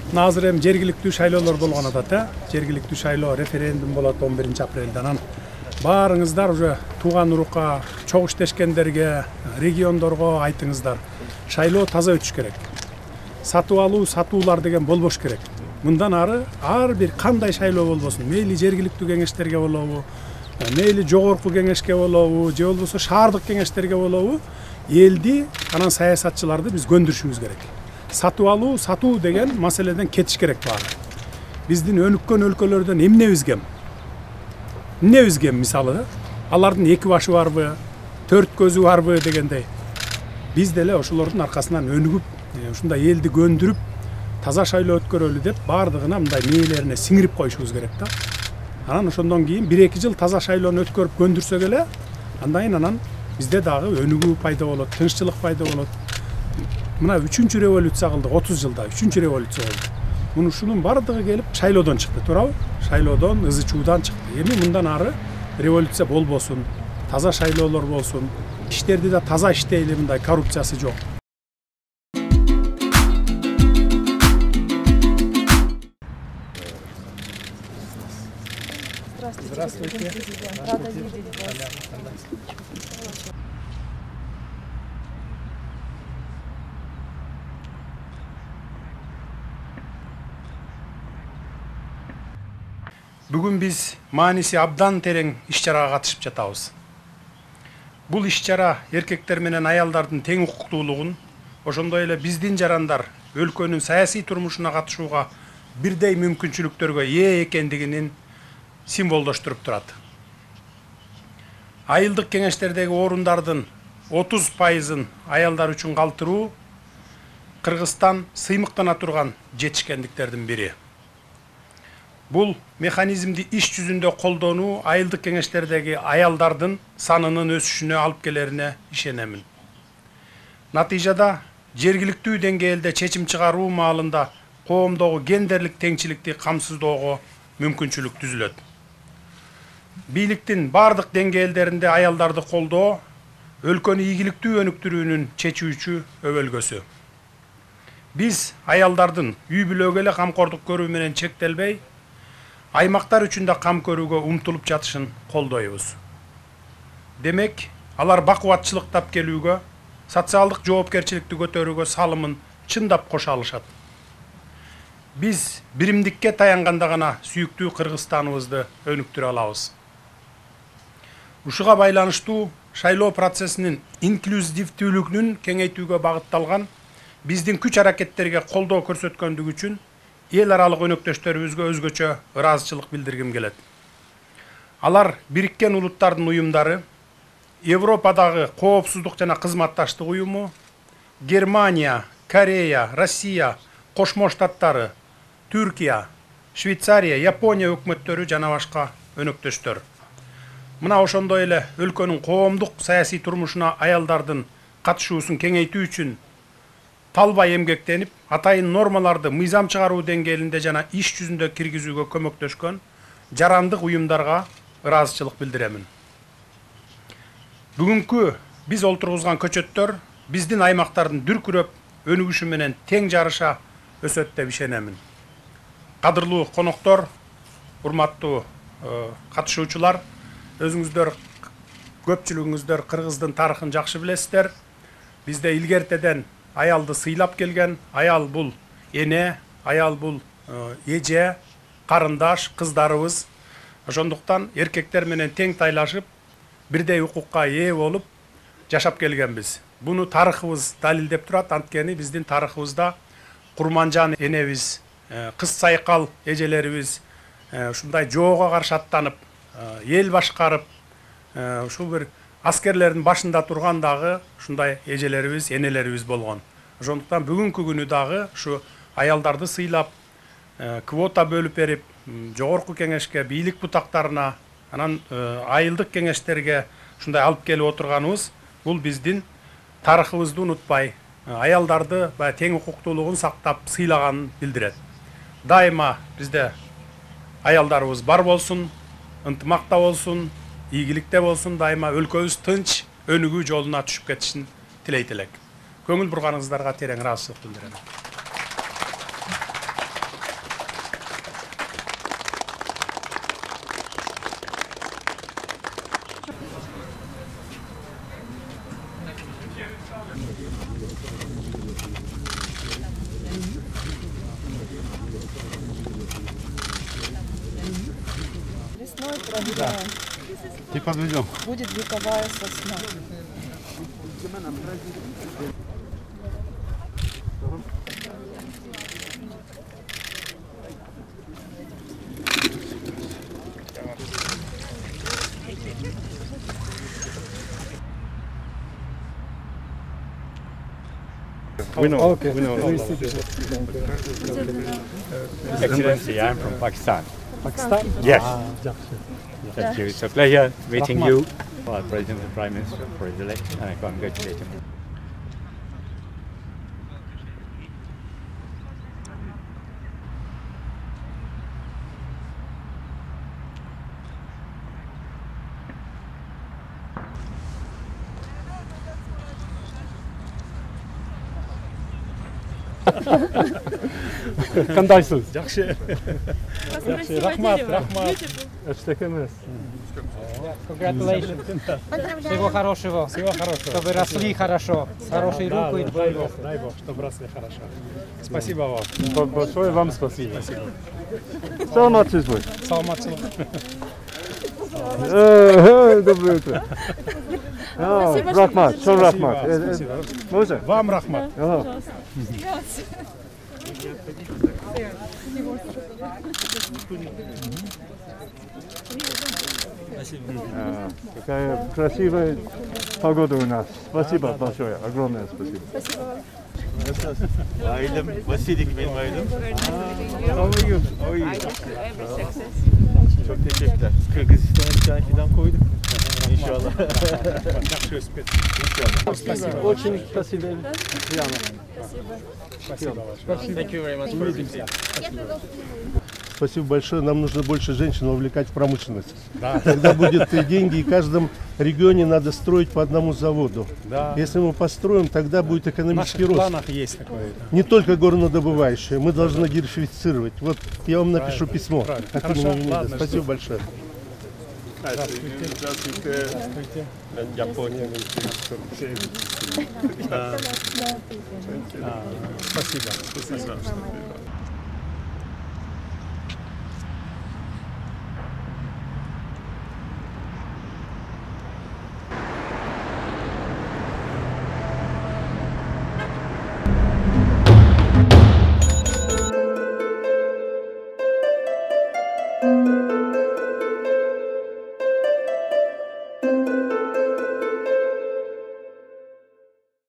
Мына азыр эми жергиликтүү шайлоолор болгон атат, жергиликтүү шайлоо референдум болот 11 апрелде. Анан баарыңыздар уже тууган урукка, чогуу иштешкендерге, региондорго айтыңыздар. Шайлоо таза өтүш керек. Сатып алуу, сатуулар деген болбош керек. Мындан ары ар бир кандай шайлоо болбосун, мейли жергиликтүү кеңештерге болобу, мейли жогорку кеңешке болобу, же болбосо шаардык кеңештерге болобу, элди анан саясатчыларды биз көндүрүшүбүз керек. Сатып алуу, сатуу деген маселеден кетиш керек баары. Биздин өнүккөн өлкөлөрдөн эмнебиз кем? Эмнебиз кем мисалы? Алардын 2 башы барбы, 4 көзү барбы дегендей. Биз деле ошолордун аркасынан өнүгүп, ушундай элди көндүрүп, таза шайлоо өткөрөлү деп баардыгына мындай мээлерине сиңирип коюшубуз керек да. Анан ошондон кийин 1-2 жыл таза шайлоону өткөрүп көндүрсөк эле, анан бизде дагы өнүгүү пайда болот, тынччылык пайда болот. Мына 3-чү революция кылдык 30 жылда, 3-чү революция болду. Ушунун бардыгы келип шайлоодон чыкты, туурабы? Шайлоодон, ызы-чуудан чыкты. Эми мындан ары революция болбосун, таза шайлоолор болсун, иштерди да таза иштейли, мындай коррупциясы жок. Здравствуйте. Рада видеть вас. Бүгүн биз мааниси абдан терең иш-чарага катышып жатабыз. Бул иш-чара эркектер менен аялдардын тең укуктуулугун, ошондой эле биздин жарандар өлкөнүн саясий турмушуна катышууга бирдей мүмкүнчүлүктөргө ээ экендигинин символдоштуруп турат. Айылдык кеңештердеги орундардын 30%-ын аялдар үчүн калтыруу Кыргызстан сыймыктана турган жетишкендиктердин бири. Бул механизмди иш жүзүндө колдонуу айылдык кеңештердеги аялдардын санынын өсүшүнө алып келерине ишенемин. Натыйжада жергиликтүү деңгээлде чечим чыгаруу маалында коомдогу гендерлик теңчиликти камсыздоого мүмкүнчүлүк түзүлөт. Бийликтин бардык деңгээлдеринде аялдарды колдоо өлкөнү ийгиликтүү өнүктүрүүнүн чечүүчү өбөлгөсү. Биз аялдардын үй бүлөгө эле камкордук көрүү менен чектелбей, аймактар үчүн да кам көрүүгө умтулуп жатышын колдойбуз. Демек, алар бакубатчылык тап келүүгө, социалдык жоопкерчиликти көтөрүүгө салымын чындап кошо алышат. Биз биримдикке таянганда гана сүйүктүү Кыргызстаныбызды өнүктүрө алабыз. Ушуга байланыштуу шайлоо процессинин инклюзивдүүлүгүнүн кеңейтүүгө багытталган биздин күч аракеттерге колдоо көрсөткөндүгү үчүн эл аралык өнөктөштөрүбүзгө өзгөчө ыраазычылык билдиргим келет. Алар Бириккен Улуттардын уюмдары, Европадагы коопсуздук жана кызматташтык уюму, Германия, Корея, Россия, Кошмо Штаттары, Түркия, Швейцария, Япония өкмөттөрү жана башка өнөктөштөр. Мына ошондой эле өлкөнүн коомдук саясий турмушуна аялдардын катышуусун кеңейтүү үчүн талбай эмгектенип, атайын нормаларды мыйзам чыгаруу деңгээлинде жана иш жүзүндө киргизүүгө көмөктөшкөн жарандык уюмдарга ыраазычылык билдиремин. Бүгүнкү биз олтургузган көчөттөр биздин аймактардын дүркүрөп өнүгүшү менен тең жарыша өсөт деп ишенемин. Кадырлуу коноктор, урматтуу катышуучулар, өзүңүздөр көпчүлүгүңүздөр Кыргыздын тарыхын жакшы билесиздер. Бизде илгертеден аялды сыйлап келген, аял бул эне, аял бул эже, карындаш, кыздарыбыз. Ошондуктан эркектер менен тең тайлашып, бирдей укукка ээ болуп жашап келгенбиз. Буну тарыхыбыз далилдеп турат, анткени биздин тарыхыбызда Курманжан энебиз, кыз сайкал эжелерибиз ушундай жоого каршы аттанып, эл башкарып, ушул бир аскерлердин башында турган дагы ушундай эжелерибиз, энелерибиз болгон. Ошондуктан бүгүнкү күнү дагы ушу аялдарды сыйлап, квота бөлүп берип, жогорку кеңешке, бийлик бутактарына, анан айылдык кеңештерге ушундай алып келип отурганыбыз, бул биздин тарыхыбызды унутпай, аялдарды тең укуктуулугун сактап сыйлаганын билдирет. Дайыма бизде аялдарыбыз бар болсун, ынтымакта болсун, ийгиликте болсун, дайыма өлкөбүз тынч өнүгүү жолуна түшүп кетишин тилейт элек. Көңүл бурганыңыздарга терең ыраазычылык билдирем. сосной проверяем. И подведем. Будет вековая сосна. We know. Okay. We know. Excellency, I'm from Pakistan. Pakistan? Yes. Жақсы. Thank you. It's a pleasure meeting you, President and Prime Minister, for his election, and I congratulate him. Кандайсыз? Жакшы. Жакшы. Рахмат. Эчтеке эмес. Congratulations. Всего хорошего. Всего хорошего. Чтобы росли хорошо. С хорошей рукой. Дай Бог, чтобы росли хорошо. Спасибо вам. Большое вам спасибо. Саламатсызбы. Саламатчылык. Доброе утро. Рахмат, шон рахмат. Можно? Вам рахмат. Какая красивая погода у нас. Спасибо большое, огромное спасибо. Ailem, Vasilik benim ailem. Çok teşekkürler. Kırgızistan'a bir tane fidan koyduk. İnşallah. Жакшы өсүп кетти. Спасибо. Очень спасибо. Спасибо. Thank you very much for visiting. Спасибо большое. Нам нужно больше женщин вовлекать в промышленность. Да. Тогда будет и деньги, и в каждом регионе надо строить по одному заводу. Да. Если мы построим, тогда будет В экономический наших рост. планах есть такое. Не только горнодобывающие. Мы должны диверсифицировать. Вот я вам напишу письмо. правильно. От Хорошо, имени МИДа. ладно, Спасибо большое. Здравствуйте. Япония. Спасибо. Thank you.